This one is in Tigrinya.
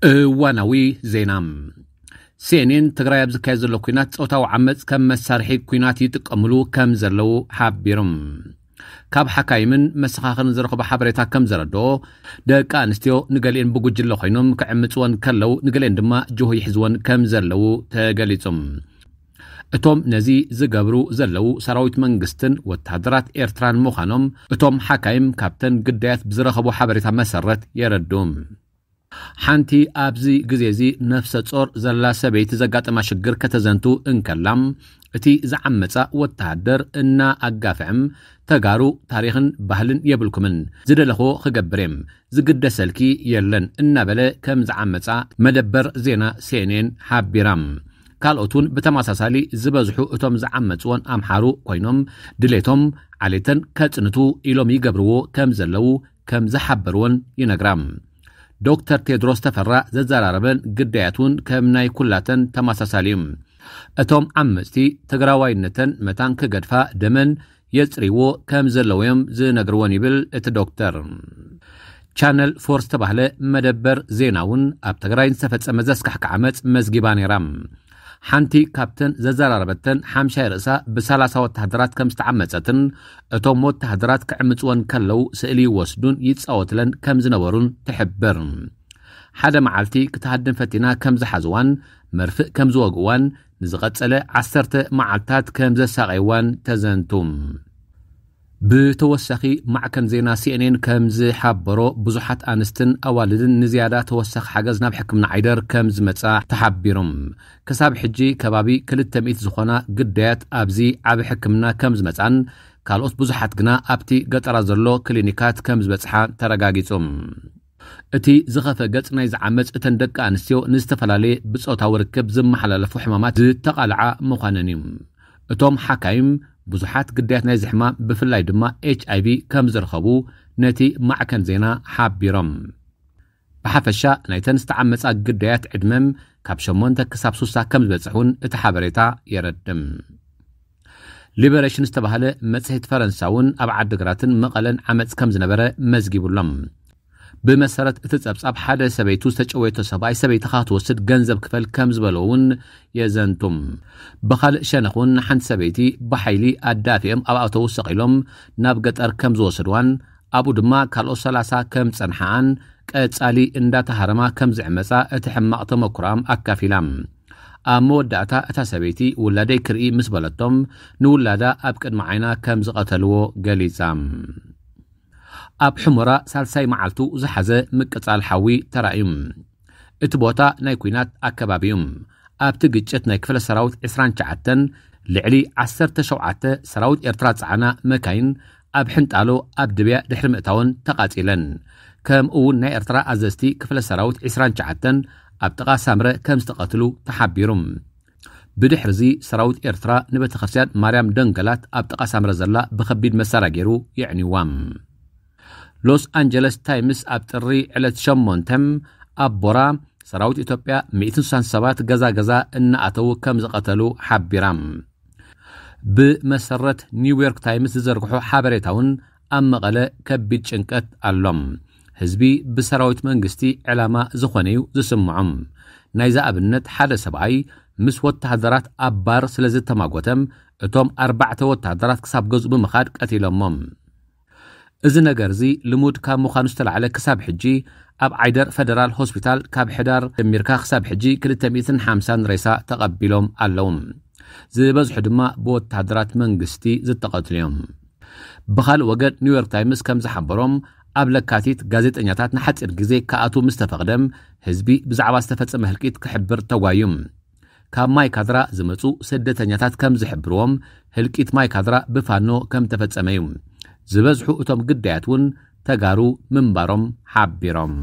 እዋናዊ ዜና። ሲኤንኤን ትግራይ ኣብ ዝካየድ ዘሎ ኲናት ጾታዊ ዓመፅ ከም መሳርሒ ኲናት ይጥቀምሉ ከም ዘለዉ ሓቢሩ። ካብ ሓካይምን መሰኻኽርን ዝረኽቦ ሓበሬታ ከም ዘረድኦ፣ ደቂ ኣንስትዮ ንገሊኤን ብጉጅለ ኮይኖም ክዕምፅወን ከለዉ፣ ንገሊኤን ድማ ጅሆ ይሕዝወን ከም ዘለዉ ተገሊጹ። እቶም ነዚ ዝገብሩ ዘለዉ ሰራዊት መንግስትን ወታደራት ኤርትራን ምዃኖም እቶም ሓካይም ካብተን ግዳያት ብዝረኸቦ ሓበሬታ መሰረት የረድኡ። ሓንቲ ኣብዚ ግዜ እዚ ነፍሰ ጾር ዘላ ሰበይቲ ዘጋጠማ ሽግር ከተዘንቱ እንከላ፣ እቲ ዝዓመጻ ወተሃደር እና ኣጋፍዕም ተጋሩ ታሪኽን ባህልን የብልኩምን፣ ዝደለኽዎ ክገብር እየ፣ ዝግደሰልኪ የለን እናበለ ከም ዝዓመጻ መደበር ዜና ሲኤንኤን ሓቢራ። ካልኦት እውን ብተመሳሳሊ ዝበዝሑ እቶም ዝዓመጽዎን ኣምሓሩ ኮይኖም ድሌቶም ዓሌተን ከጽንቱ ኢሎም ይገብርዎ ከም ዘለዉ ከም ዝሓበርዎን ይነግራ። ዶክተር ቴድሮስ ተፈራ ዘዘራረበን ግዳያት እውን ከም ናይ ኩላተን ተመሳሳሊ እዩ። እቶም ዓመጽቲ ትግራዋይነተን መታን ክገድፋ ደመን የጽርይዎ ከም ዘለዉ እዮም ዝነግርዎን ይብል እቲ ዶክተር። ቻነል ፎር ዝተባህለ መደበር ዜና እውን ኣብ ትግራይ ዝተፈጸመ ዘስካሕክሕ ዓመጽ መዝጊባ ነይራ። ሓንቲ ካብተን ዘዘራረበተን ሓምሻይ ርእሳ ብሰላሳ ወተሃደራት ከም ዝተዓመጸትን እቶም ወተሃደራት ክዕምጽወን ከለዉ ስእሊ ይወስዱን ይጻወትለን ከም ዝነበሩን ትሕብር። ሓደ መዓልቲ ክትሃድም ፈቲና ከም ዝሓዝዋን መርፍእ ከም ዝወግእዋን ንዝቐጸለ ዓሰርተ መዓልታት ከም ዘሳቐይዋን ተዘንቱ። ብተወሳኺ ማዕከን ዜና ሲኤንኤን ከም ዝሓበሮ ብዙሓት ኣንስትን ኣዋልድን ንዝያዳ ተወሳኺ ሓገዝ ናብ ሕክምና ዓይደር ከም ዝመጻ ተሓቢሮም። ክሳብ ሕጂ ከባቢ ክልተ ሚእቲ ዝኾና ግዳያት ኣብዚ ዓቢ ሕክምና ከም ዝመጻን ካልኦት ብዙሓት ግና ኣብቲ ገጠራ ዘሎ ክሊኒካት ከም ዝበጽሓ ተረጋጊጹ። እቲ ዝኸፈ ገጽ ናይ ዝዓመጽ እተን ደቂ ኣንስትዮ ንዝተፈላለየ ብጾታዊ ርክብ ዝመሓላለፉ ሕማማት ዝተቓልዓ ምዃነን እዩ። እቶም ሓካይም ብዙሓት ግዳያት ናይዚ ሕማም ብፍላይ ድማ ኤች ኣይ ቪ ከም ዝረኸቡ ነቲ ማዕከን ዜና ሓቢሮም። ብሓፈሻ ናይተን ዝተዓመጻ ግዳያት ዕድመም ካብ ሸሞንተ ክሳብ ሱሳ ከም ዝበጽሕ እውን እቲ ሓበሬታ የረድም። ሊበሬሽን ዝተባህለ መጽሔት ፈረንሳ እውን ኣብ ዓድግራትን መቐለን ዓመጽ ከም ዝነበረ መዝጊቡሎም። ብመሰረት እቲ ጸብጻብ ሓደ ሰበይቱ ዝተጨወየቶ ሰብኣይ ሰበይትኻ ክትወስድ ገንዘብ ክፈል ከም ዝበሎ እውን የዘንቱም። ብኻልእ ሸነኽ እውን ሓንቲ ሰበይቲ ብሓይሊ ኣዳፊኦም ኣብ ኣውቶቡስ ሰቒሎም ናብ ገጠር ከም ዝወሰድዋን ኣብኡ ድማ ካልኦት ሰላሳ ከም ዝጸንሓኣን ቀጻሊ እንዳተሃረማ ከም ዝዕመጻ እቲ ሕማቕ ተመክሮኣም ኣካፊላ። ኣብ መወዳእታ እታ ሰበይቲ ውላደይ ክርኢ ምስ በለቶም ንውላዳ ኣብ ቅድሚ ዓይና ከም ዝቐተልዎ ገሊጻ። ኣብ ሕሞራ ሳልሳይ መዓልቱ ዝሓዘ ምቅጻል ሓዊ ተራእዩ። እቲ ቦታ ናይ ኲናት ኣከባቢ እዩ። ኣብቲ ግጭት ናይ ክፍለ ሰራዊት ዕስራን ትሽዓተን ልዕሊ ዓሰርተ ሸውዓተ ሰራዊት ኤርትራ ዝጸዓና መካይን ኣብ ሕንጣሎ ኣብ ድብያ ድሕሪ ምእታወን ተቓጺለን። ከምኡ እውን ናይ ኤርትራ ኣዘዝቲ ክፍለ ሰራዊት ዕስራን ትሽዓተን ኣብ ጥቓ ሳምረ ከም ዝተቐትሉ ተሓቢሩ። ብድሕርዚ ሰራዊት ኤርትራ ንቤተክርስትያን ማርያም ደንገላት ኣብ ጥቓ ሳምረ ዘላ ብኸቢድ መሳርያ ገይሩ የዕንዋ። ሎስ ኣንጀለስ ታይምስ ኣብ ጥሪ ዕለት ሸሞንተ ኣብ ቦራ ሰራዊት ኢትዮጵያ ሚእትን ስሳን ሰባት ገዛ ገዛ እናኣተዉ ከም ዝቐተሉ ሓቢራ። ብመሰረት ኒውዮርክ ታይምስ ዝዘርግሖ ሓበሬታ እውን ኣብ መቐለ ከቢድ ጭንቀት ኣሎ። ህዝቢ ብሰራዊት መንግስቲ ዕላማ ዝኾነ እዩ ዝስምዖም። ናይዚ ኣብነት ሓደ ሰብኣይ ምስ ወተሃደራት ኣብ ባር ስለ ዝተማጎተም እቶም ኣርባዕተ ወተሃደራት ክሳብ ገዝኡ ብምኻድ ቀቲሎሞም። እዚ ነገር እዚ ልሙድ ካብ ምዃኑ ዝተላዕለ ክሳብ ሕጂ ኣብ ዓይደር ፈደራል ሆስፒታል ካብ ሕዳር ጀሚርካ ክሳብ ሕጂ ክልተ ሚእትን ሓምሳን ሬሳ ተቐቢሎም ኣለዉ። ዝበዝሑ ድማ ብወተሃደራት መንግስቲ ዝተቐትሉ እዮም። ብኻልእ ወገን ኒውዮርክ ታይምስ ከም ዝሓበሮም ኣብ ለካቲት ጋዜጠኛታት ንሓፂር ግዜ ክኣትዉ ምስ ተፈቕደም ህዝቢ ብዛዕባ ዝተፈጸመ ህልቂት ክሕብር ተጓዩ። ካብ ማይ ካድራ ዝመጹ ስደተኛታት ከም ዝሕብርዎም ህልቂት ማይ ካድራ ብፋኖ ከም ተፈጸመ እዩ። ዝበዝሑ እቶም ግዳያት እውን ተጋሩ ምንባሮም ሓቢሮም።